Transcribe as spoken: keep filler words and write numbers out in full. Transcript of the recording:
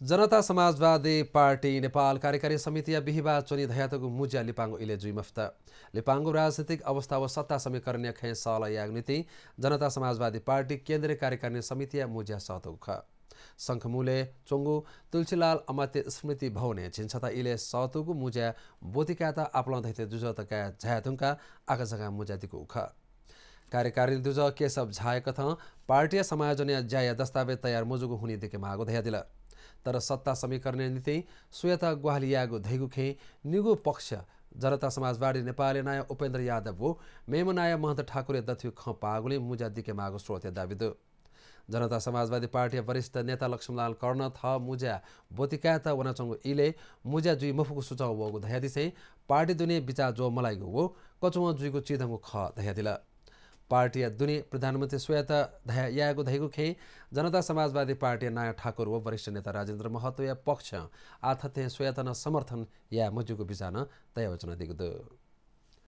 जनता समाजवादी पार्टी नेपाल कार्यकारी समितिया बिहिबाः च्वनी धयातःगु मुँज्या लिपांगु इलय् जुइ मफुत। लिपांगु राजनीतिक अवस्था व सत्ता समीकरणया खँय् सहलह यायेगु निंतिं जनता समाजवादी पार्टी केन्द्रीय कार्यकारिणी समितिया मुँज्या सःतःगु खः। शंखमूलय् च्वंगु तुलसीलाल अमात्य स्मृति भवनय् झिंछता इलय् सःतूगु मुँज्या ब्वति कायेत आपालं धइथें दुजः तकाः झाये धुंकाः आकाझाकां मुँज्या दिकूगु खः। कार्यकारिणी दुजः केशव झाया कथं पार्टीया समायोजनया ज्याया दस्तावेज तयार मजूगु हुनिं दिके माःगु धयादिल। तर सत्ता समीकरणया निंतिं सुयात ग्वाहालि यायेगु धइगु खँय् निगू पक्ष जनता समाजवादी नेपालया नायः उपेन्द्र यादव व मेम्ह नायः महन्त ठाकुरया दथुइ खँ पाःगुलिं मुँज्या दिके माःगु स्रोतया दाबी दु। जनता समाजवादी पार्टीया वरिष्ठ नेता लक्ष्मीलाल कर्ण थः मुँज्या ब्वति कायेत वनाच्वंगु इलय् मुँज्या जुइ मफुगु सुझाव वःगु धयादिसें पार्टी दुने बिचाः ज्वः मलाइगु व कचुवं जुइगु चिधंगु खः धयादिल। पार्टीया दुने प्रधानमन्त्री सुयात धया-, यायेगु धइगु खँय् जनता समाजवादी पार्टीया नायः ठाकुर व वरिष्ठ नेता राजेन्द्र महतोया पक्षं आः थथें सुयात नं समर्थन याये मज्यूगु बिचाः नं दयावचन दीगु दु।